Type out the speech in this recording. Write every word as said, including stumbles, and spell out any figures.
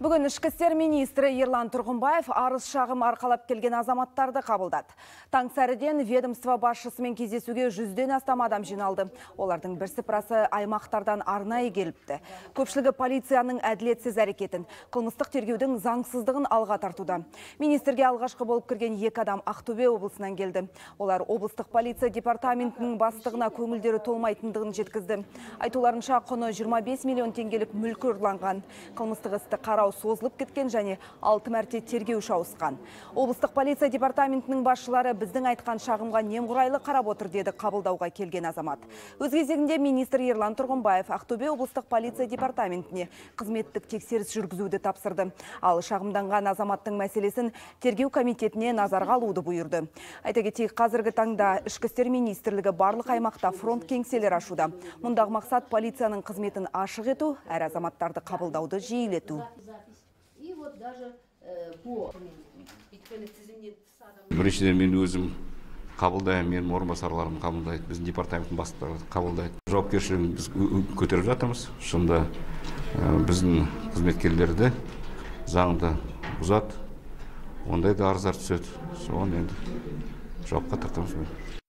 Бүгін ішкі істер министрі Ерлан Тұрғынбаев арыз шағым арқалап келген азаматтарды қабылдады. Таң сәріден ведомство басшысымен кездесуге жүзден астам адам жиналды. Олардың бірсыпырасы аймақтардан арнайы келіпті. Көпшілігі полицияның әділетсіз әрекетін, қылмыстық тергеудің заңсыздығын алға тартуда. Министрге алғашқы болып кірген екі адам Ақтөбе облысынан келді. Олар облыстық полиция департаментінің бастығына көңілдері толмайтындығын жеткізді. Айтуларынша құны жиырма бес миллион теңгелік мүлкі ұрланған. Қылмыстық істі қарау созылып кеткен және алты мәрте тергеуші ауысқан. Облыстық полиция департаментінің басшылары біздің айтқан шағымға немқұрайлы қарап отыр деді қабылдауға келген азамат. Өз кезегінде министр Ерлан Тұрғынбаев Ақтөбе облыстық полиция департаментіне қызметтік тексеріс жүргізуді тапсырды. Ал шағымданған азаматтың мәселесін тергеу комитетіне назарға алуды бұйырды. Айта кетейік, қазіргі таңда ішкі істер министрлігі барлық аймақта фронт кеңселер ашуда. Мұндағы мақсат полицияның қызметін ашық ету, әр азаматтарды қабылдауды жиілету. Біріншіден мен өзім қабылдаймын, менің орынбасарларым қабылдайды, біздің департаменттің бастықтары қабылдайды. Жауапкершілігін біз көтеріп жатырмыз. Шында біздің қызметкерлерді заңды бұзады, ондай да арыздар түседі. Соған енді жауапқа тартамыз.